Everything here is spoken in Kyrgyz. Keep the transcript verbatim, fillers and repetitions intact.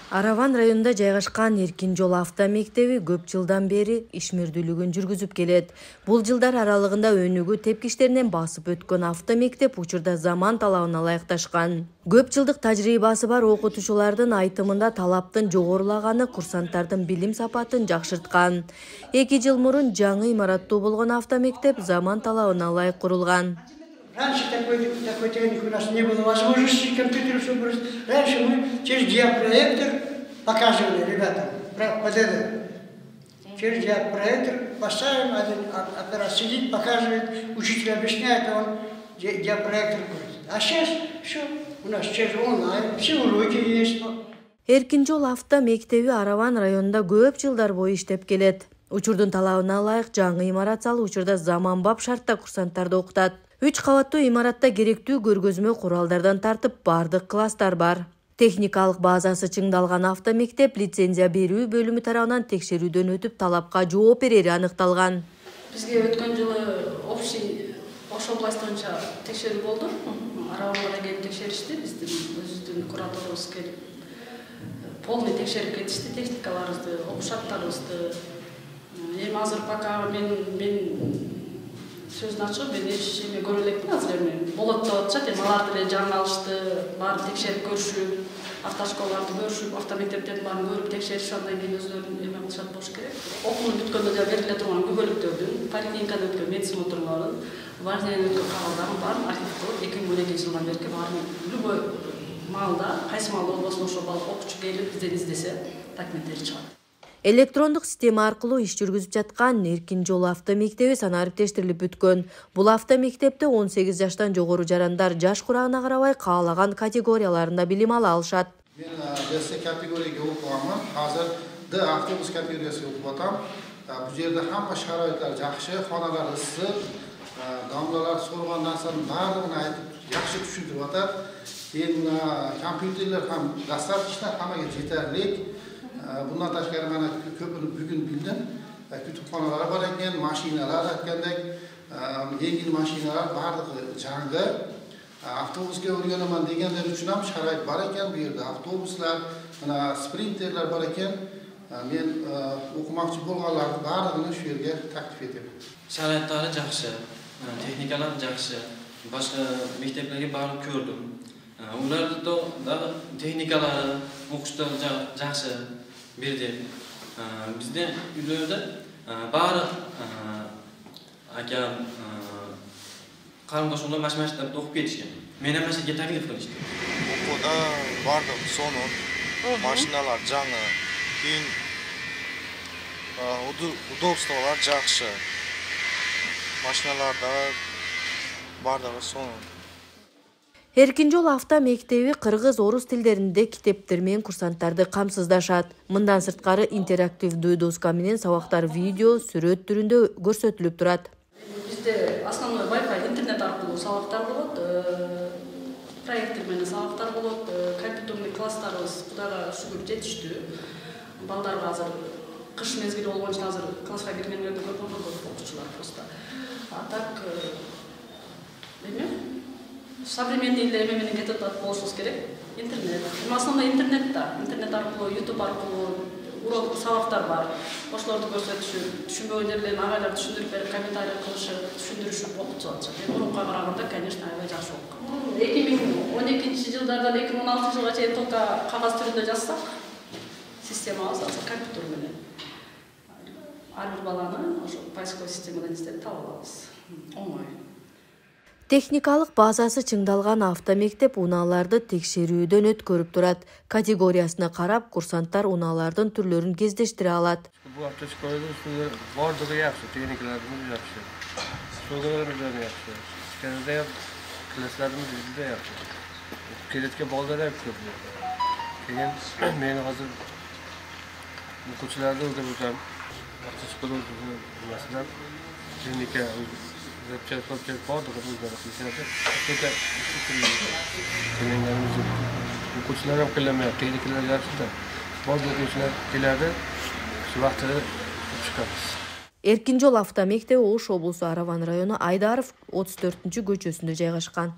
Араван районунда жайгашкан Эркин жол автомектеби көп жылдан бери ишмердүүлүгүн жүргүзүп келет. Бул жылдар аралыгында өнүгүү тепкичтеринен басып өткөн автомектеп учурда заман талабына ылайыкташкан. Көп жылдык тажрыйбасы бар окутуучулардын айтымында талаптын жогорулаганы курсанттардын билим сапатын жакшырткан. Эки жыл мурун жаңы имараттуу болгон автомектеп заман талабына ылайык курулган. Раньше такой, такой техник у нас не было возможности компьютеров, чтобы... Раньше мы через диапроектор показывали ребятам, под это. Через диапроектор поставим, один оператор сидит, показывает, учитель объясняет, он диапроектор будет. А сейчас все у нас через онлайн, все уроки есть. Эркин жол автомектеби Араван районунда көп жылдар бою иштеп келет. Учурдун талабына ылайык жаңы имарат салуу учурда заманбап шартта курсанттарды окутат. Үч кабаттуу имаратта керектүү көргөзмө куралдардан тартып бардык класстар бар. Техникалык базасы чыңдалган автомектеп лицензия берүү бөлүмү тарабынан текшерүүдөн өтүп талапка жооп берери аныкталган. Бизге өткөн жылы общий Ош областы боюнча текшерүү болду. Араванга келип текшеришти, биздин өзүбүздүн кураторубуз келип полный текшерип кетишти техникаларыбызды, окуу шарттарыбызды. Эми азыр пока мен мен сөзүн ачып, мен эч эме көрө элекмин азыр эми болот деп атышат. Эми алар деле жаңы алышты, баарын текшерип көрүшүп, автошколаларды көрүшүп, автомектептердин баарын көрүп текшеришип, андан кийин өзүлөрүн эме кылышат болуш керек. Окуун бүткөндө да бериле турган күбөлүктөрдүн, поликлиникада өткөн медсмотрлордун, важныйдан өткөн кабылдардын баарын архивдеп, эки миң он экинчи жылдан бери баарын любой маалда, кайсы маалда болбосун ошол бала окуучу келип бизден издесе, документтери чыгат. Электрондук система аркылуу иш жүргүзүп жаткан Эркин жол автомектеби санариптештирилип бүткөн. Бул автомектепте он сегиз жаштан жогору жарандар жаш курагына карабай каалаган категорияларында билим ала алышат. Мен Б категорияга окуганмын. Азыр Д автобус категориясына окуп атам. Бул жерде хамма шарайыттар жакшы, хоналар ысык, дамлалар соргон нерсенин баардыгын айтып жакшы түшүндүрүп атат. Эми компьютерлер ham достаточно, хаммага жетерлик. Bundan tashqari mana ko'pini bugun bildim. Kutubxonalar bor ekan, mashinalar aytgandek, yengil mashinalar bardigi jangi. Avtobusga o'rganaman deganlar uchun ham sharoit bor ekan bu yerda. Avtobuslar, mana sprinterlar bor ekan. Men o'qimoqchi bo'lganlarni barligini shu yerga taklif etaman. Sharoitlari yaxshi, texnikalar yaxshi. Boshqa maktablarga borib ko'rdim. Ularda da texnikalari, o'qishlar yaxshi. Birde bizde ülkede bari aka qarindoshimlar mashmashlar o'qib ketishgan. Men ham mashinaga taklif qilishdi. O'quvda bordim, sonun, mashinalar жаңы, keyin удобстволар yaxshi. Mashinalarda bardigi sonun. Эркин жол автомектеби кыргыз, орус тилдеринде китептер менен курсанттарды камсыздашат. Мындан сырткары интерактивдүү доска менен сабактар видео, сүрөт түрүндө көрсөтүлүп турат. Бизде основной Wi-Fi интернет аркылуу сабактар болот, проектор менен сабактар болот, компьютерный класстарыбыз Кудайга шүгүр жетиштүү. Балдарга азыр кыш мезгили болгон үчүн азыр класска киргендерди көргөн көп окуучулар просто. А так эме современный эме менен кетип атат болушубуз керек. Интернет. Эми основной интернет да. Интернет аркылуу, YouTube аркылуу урок сабактар бар. Ошолорду көрсөтүшүп, түшүнбөгөн жерлерин агайлар түшүндүрүп берип, комментарий кылышып, түшүндүрүшүп окутуп атышат. Эми мурункуга караганда, конечно, аябай жакшы окуп. эки миң он экинчи жылдардан эки миң он алтынчы жылга чейин только кагаз түрүндө жазсак, системабыз азыр компьютер менен. Ар бир баланы ошо поисковый системадан издеп таап алабыз. Оңой. Техникалык базасы чыңдалган автомектеп унааларды текшерүүдөн өткөрүп турат. Категориясына карап, курсанттар унаалардын түрлөрүн кездештире алат. Бул автошколада ушул бардыгы жакшы, техникаларыбыз жакшы. Согуларыбыз да жакшы. Кенде классларыбыз да жакшы. Келетке балдар да көп. Кеген мен азыр окуучуларды өтөм. Автошколада маселен техника Запчасть, запчасть, правда, как вы знаете, это это Укучиларым кылмай, техникалар жакшы. Бул укучулар келadi, шу вакытта чыгабыз. Эркин жол автомектеби Ош облусу Араван району Айдаров отуз төртүнчү көчөсүндө жайгашкан.